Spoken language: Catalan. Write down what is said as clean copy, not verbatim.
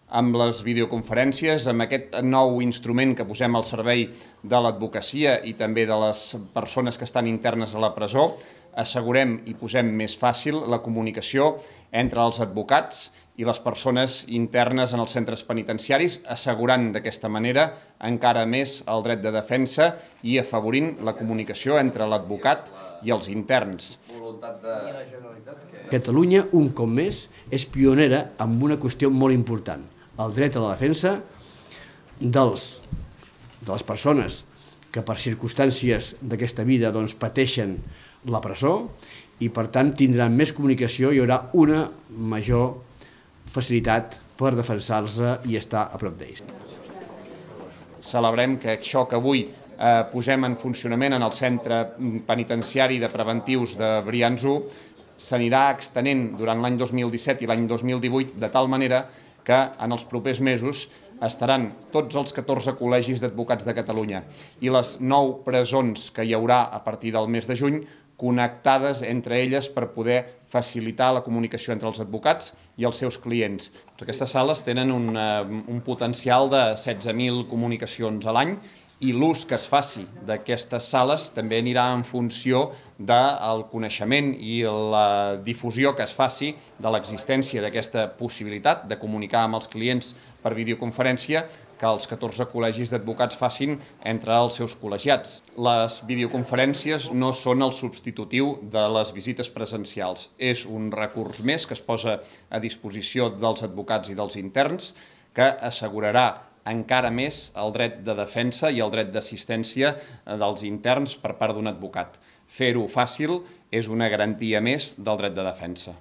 amb les videoconferències, amb aquest nou instrument que posem al servei de l'advocacia i també de les persones que estan internes a la presó, assegurem i posem més fàcil la comunicació entre els advocats i les persones internes en els centres penitenciaris, assegurant d'aquesta manera encara més el dret de defensa i afavorint la comunicació entre l'advocat i els interns. Catalunya, un cop més, és pionera amb una qüestió molt important, el dret a la defensa de les persones que per circumstàncies d'aquesta vida pateixen la presó i per tant tindran més comunicació i hi haurà una major facilitat per defensar-se i estar a prop d'ells. Celebrem que això que avui posem en funcionament en el centre penitenciari de preventius de Brians 1 s'anirà extenent durant l'any 2017 i l'any 2018 de tal manera que en els propers mesos estaran tots els 14 col·legis d'advocats de Catalunya i les 9 presons que hi haurà a partir del mes de juny connectades entre elles per poder facilitar la comunicació entre els advocats i els seus clients. Aquestes sales tenen un potencial de 16.000 comunicacions a l'any i l'ús que es faci d'aquestes sales també anirà en funció del coneixement i la difusió que es faci de l'existència d'aquesta possibilitat de comunicar amb els clients per videoconferència que els 14 col·legis d'advocats facin entre els seus col·legiats. Les videoconferències no són el substitutiu de les visites presencials. És un recurs més que es posa a disposició dels advocats i dels interns que assegurarà encara més el dret de defensa i el dret d'assistència dels interns per part d'un advocat. Fer-ho fàcil és una garantia més del dret de defensa.